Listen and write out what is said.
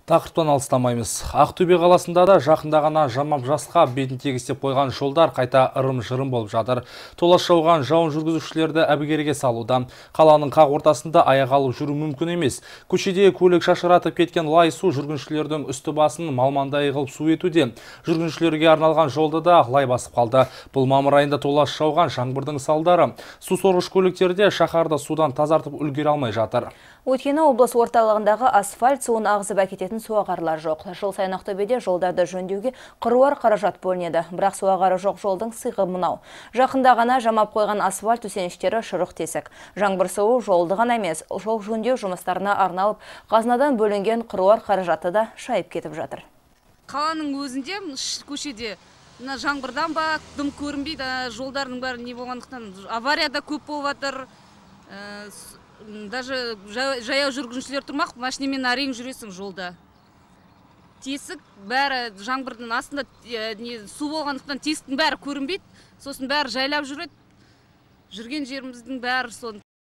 Тақырыптан алыстамаймыз. Ақтөбе қаласында да жақында ғана жамап жасқа бетін тегістеп қойған жолдар қайта ырым-жырым болып жатыр. Толас жауған жауын жүргізушілерді әбігерге салуда. Қаланың қақ ортасында аяқ алып жүру мүмкін емес. Көшеде көлік шашыратып кеткен лай су жүргіншілердің үсті басын малмандай қылып су етуде. Жүргіншілерге арналған жолды да лай басып қалды. Бұл мамыр айында толас жауған жаңбырдың салдары. Су сорғыш көліктерде шаһарды судан тазартып үлгере алмай жатыр. Өйткені облыс орталығындағы асфальт суын ағызып әкететін суағарлар жоқ. Жыл сайын Ақтөбеде жолдарды жөндеуге қыруар қаражат бөлінеді. Бірақ суағары жоқ жолдың сиқы мынау. Жақында ғана жамап қойған асфальт төсеніштері шұрық тесік. Жаңбыр суы жолды ғана емес, жол жөндеу жұмыстарына арналып, қазынадан бөлінген қыруар қаражаты да шайып кетіп жатыр. Қаланың өзінде көшеде жаңбырдан ба дым көрінбейді, жолдардың бәрі не болғандықтан аварияда көп болып жатыр. Даже жаяу жүргіншілер тұрмақ, машинамен әрең жүресің жолда. Тесік бәрі жаңбырдың астында су болғандықтан тесіктің бәрі көрінбейді, сосын бәрі жайлап жүреді. Жүрген жеріміздің бәрі сон